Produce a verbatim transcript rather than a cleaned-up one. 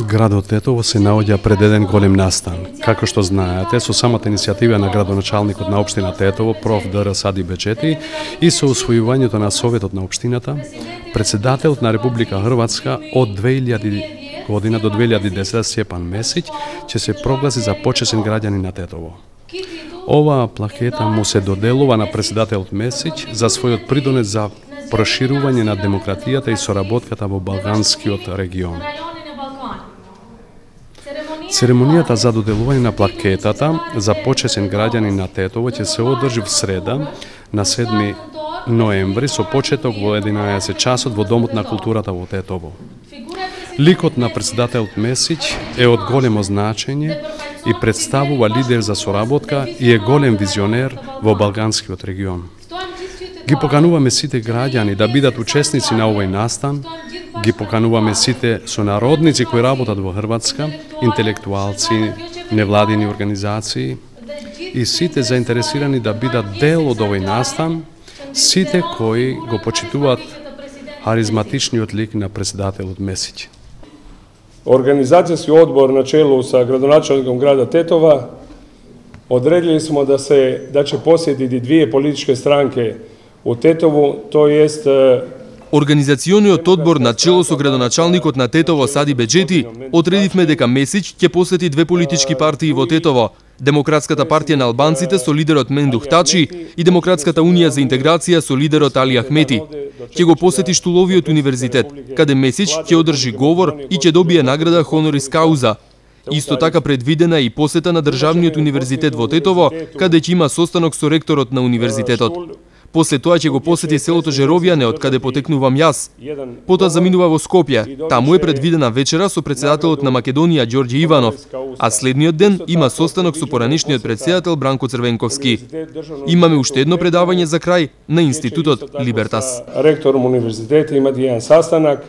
Градот Тетово се наоѓа пред еден голем настан. Како што знаете, со самата иницијатива на градоначалникот на општина Тетово, проф. Д Р Сади Беџети, и со усвојувањето на Советот на општината, председателот на Република Хрватска од две илјади година до две илјади и десета Стјепан Месиќ ќе се прогласи за почесен граѓанин на Тетово. Оваа плакета му се доделува на председателот Месиќ за својот придонес за проширување на демократијата и соработката во Балканскиот регион. Церемонијата за доделување на плакетата за почесен граѓанин на Тетово ќе се одржи в среда на седми ноември со почеток во единаесет часот во Домот на културата во Тетово. Ликот на председателот Месиќ е од големо значење и представува лидер за соработка и е голем визионер во Балканскиот регион. Ги покануваме сите граѓани да бидат учесници на овој настан, ги покануваме сите сонародници кои работат во Хрватска, интелектуалци, невладини организации и сите заинтересирани да бидат дел од овој настан, сите кои го почитуваат харизматичниот лик на председателот Месиќ. Организацијски одбор на чело со градоначалником града Тетова одредили смо да се да ќе посетити две политички странки у Тетово, то jest Организациониот одбор на чело со градоначалникот на Тетово Сади Беџети одредивме дека Месиќ ќе посети две политички партии во Тетово: Демократската партија на албанците со лидерот Мендух Тачи и Демократската унија за интеграција со лидерот Али Ахмети. Ќе го посети Штуловиот универзитет, каде Месиќ ќе одржи говор и ќе добие награда Хонорис Кауза. Исто така предвидена и посета на Државниот универзитет во Тетово, каде ќе има состанок со ректорот на универзитетот. После тоа ќе го посети селото Жеровјане, од каде потекнувам јас. Потоа заминува во Скопје. Таму е предвидена вечера со председателот на Македонија Ѓорѓе Иванов, а следниот ден има состанок со поранешниот председател Бранко Црвенковски. Имаме уште едно предавање за крај на Институтот Либертас. Ректором универзитетот има еден састанак